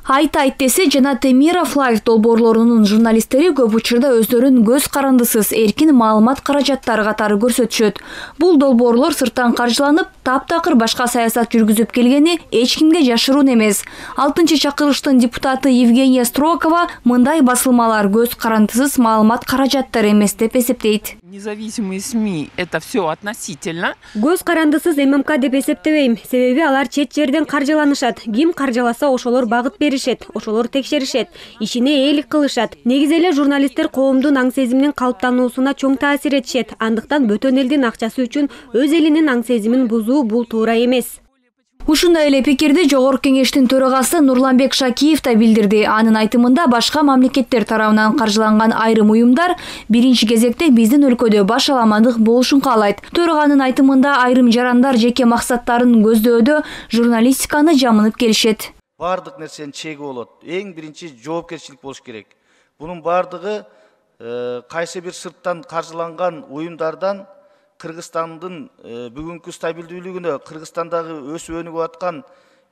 Айт десе жана Темиров Лайф долбоорлорунун журналисттери көп учурда өздөрүн көз карандысыз эркин маалымат каражаттары катары көрсөтүшөт. Бул долбоорлор сырттан каржыланып, таптакыр башка саясат жүргүзүп келгени эч кимге жашыруун эмес. 6-чакырылыштын депутаты Евгения Строкова мындай басылмалар көз карандысыз маалымат каражаттары эмес деп эсептейт. Независимые СМИ — это все относительно. Көз карандысыз ММК деп эсептебейм. Себеби алар чет жерден каржыланышат. Ким каржыласа ошолор багыт беришет, ошолор текшеришет, ишине ээлик кылышат. Негизи эле журналисттер коомдун аң сезиминин калыптануусуна чоң таасир этишет. Андыктан бөтөн элдин акчасы үчүн өз элинин аң сезимин бузуу бул туура эмес. Ушундай эле пикирди Жогорку Кеңештин төрагасы Нурланбек Шакиев да билдирди. Анын айтымында башка мамлекеттер тарабынан каржыланган айрым уюмдар биринчи кезекте биздин өлкөдө баш аламандык болушун каалайт. Төраганын айтымында айрым жарандар жеке максаттарын көздөөдө журналистиканы жамынып келишет. Бардык нерсенин чеги болот. Эң биринчи жоопкерчилик болуш керек. Бунун бардыгы кайсы бир сырттан каржыланган уюмдардан Кыргызстандын бүгүнкү стабилдүүлүгүнө, Кыргызстандагы өсүп өнүгүп аткан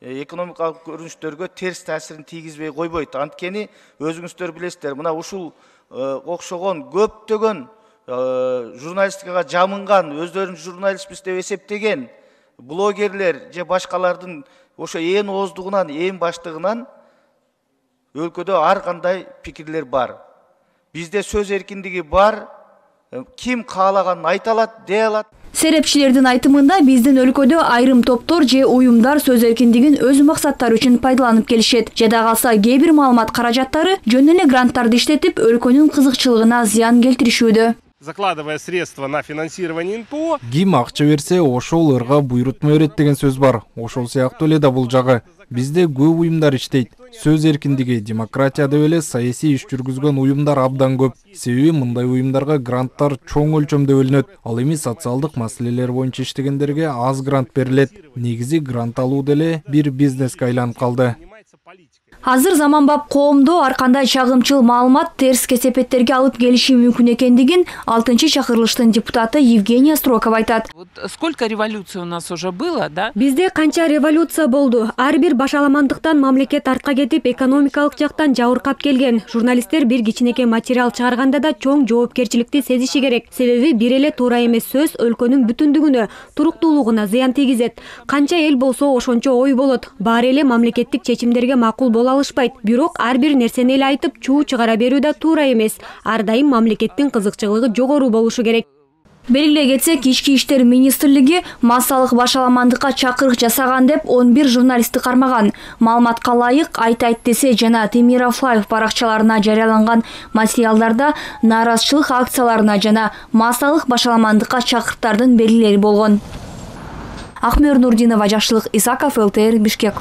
экономикалык көрүнүштөргө терс таасирин тийгизбей койбойт. Анткени өзүңүздөр билесиздер, мына ушул окшогон көптөгөн журналистикага жамынган, өздөрүн журналистпиз деп эсептеген блогерлер же башкалардын ошо ээн ооздугунан, ээн баштыгынан өлкөдө ар кандай пикирлер бар. Бизде сөз эркиндиги бар. Ким каалаганын айта алат, дей алат. Серепчилердин айтымында биздин өлкөдө айрым топтор же уюмдар сөз эркиндигин өз максаттары үчүн пайдаланып келишет. Жада калса кээ бир маалымат каражаттары жөн эле гранттарды иштетип өлкөнүн кызыкчылыгына зыян келтиришүүдө. Закладывая средства на финансирование НПО. Ким акча берсе, ошол ырга буйрутма берет деген сөз бар. Ошол сыяктуу эле да бул жагы. Бизде көп уюмдар иштейт. Сөз эркиндиги, демократия деп эле саясий иш жүргүзгөн уюмдар абдан көп. Себеби мындай уюмдарга гранттар чоң өлчөмдө бөлүнөт. Ал эми социалдык маселелер боюнча иштегендерге аз грант берилет. Негизи грант алуу деле бир бизнеске айланып калды. Азыр заманбап коомдо ар кандай чагымчыл маалымат терс кесепеттерге алып келиши мүмкүн экендигин 6-чакырылыштын депутаты Евгения Строкова айтат. Сколько революций у нас уже было, да? Бизде канча революция болду. Ар бир башаламандыктан мамлекет артка кетип, экономикалык жактан жабыркап келген. Журналисттер бир кичинекей материал чыгарганда да чоң жоопкерчиликти сезиши керек. Себеби бир эле туура эмес сөз өлкөнүн бүтүндүгүнө, туруктуулугуна зыян тийгизет. Канча эл болсо ошончо ой болот. Баары эле мамлекеттик чечимдерге макул боло алышпайт. Бирок ар бир нерсени эле айтып чуу чыгара берүү да туура эмес. Ар дайым мамлекеттин кызыкчылыгы жогору болушу керек. Белгилей кетсек, Ички иштер министрлиги массалык башаламандыкка чакырык жасаган деп 11 журналистти кармаган. Маалыматка ылайык Айт десе жана Темиров Лайф баракчаларына жарыяланган материалдарда нааразычылык акцияларына жана массалык башаламандыкка чакырыктардын белгилери болгон. Акмөр Нурдинова, Жакшылык Исаков, ЛТР, Бишкек.